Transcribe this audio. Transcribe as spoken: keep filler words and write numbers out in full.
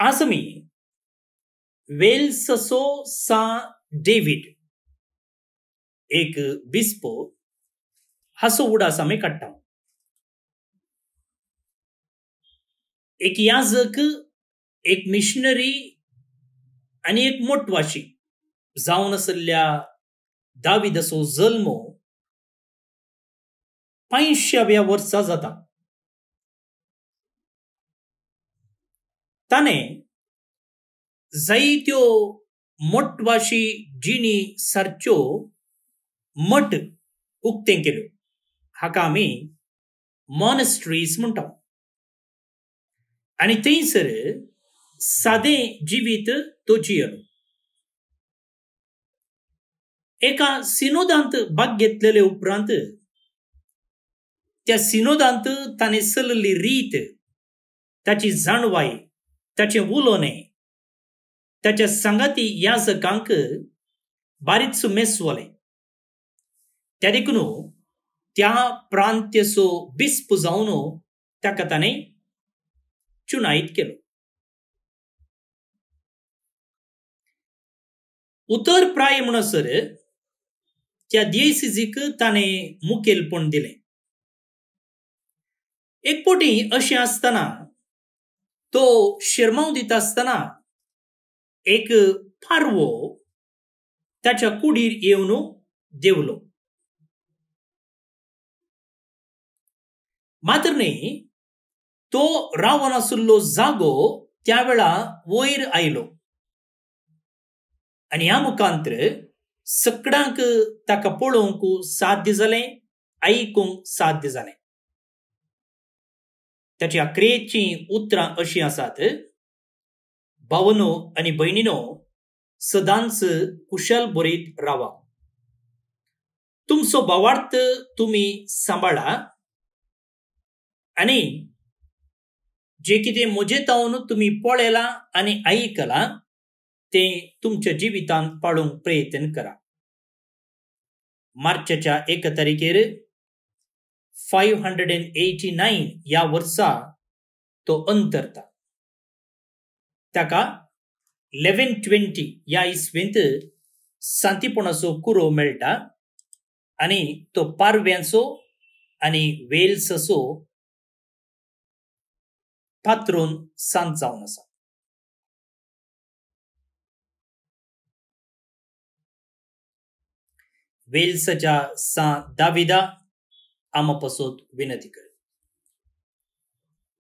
आज आमी वेल्सचो सा डेवीड एक बिस्पो हाचो उडास आमी काडटा. एक याजक, एक मिशनरी आनी एक मोटवाशी जावन आशिल्ल्या दाविदाचो जल्म पांयश्याव्या वर्सा जाता. ताणें जायत्यो मोटवाशी जिणी सारच्यो मठ उक्तें केल्यो. हाका आमी मॉनेस्ट्रीज म्हणटा. आनी थंयसर सादें जिवीत तो जियेलो. एका सिनोदांत भाग घेतलेले उपरांत त्या सिनोदांत ताणें चलयल्ली रीत, ताची जाणवाय, ताचें उलोवणें ताच्या सांगाती याजकांक बारीच मेसवलें. त्या देखून त्या प्रांत्याचो बिस्प जावन ताका ताणें चुनायत केलो. उतर प्राय म्हणसर त्या दियसिजीक ताणें मुखेलपण दिलें. एक पटी अशें आसतना तो शिरमांव दिता आसतना एक पारवो ताच्या कुडीर येवन देवलो. मात्र न्ही, तो रावन आशिल्लो जागो त्या वेळा वयर आयलो आनी ह्या मुखांतर सगळ्यांक ताका पळोवंक साध्य जालें, आयकूंक साध्य जालें. ताच्या क्रियेचीं उतरां अशीं आसात: भावनो आनी भयणीनो, सदांच कुशल बरीत रावा. तुमचो भावार्थ तुमी सांबाळा आनी जे कितें म्हजेतावन तुमी पळयलां आनी आयकलां तें तुमच्या जिवितांत पाळूंक प्रयत्न करा. मार्चाच्या एक तारखेर five hundred and eighty nine ह्या वर्सा तो अंतरता. ताका इलेव्हन ट्वेंटी ह्या इस्वेंत सांतीपणाचो कुरो मेळटा आनी तो पारव्यांचो आनी वेल्साचो पात्रोन सांत जावन आसा. वेल्साच्या सा दाविदा आमा पासत विनंती कर.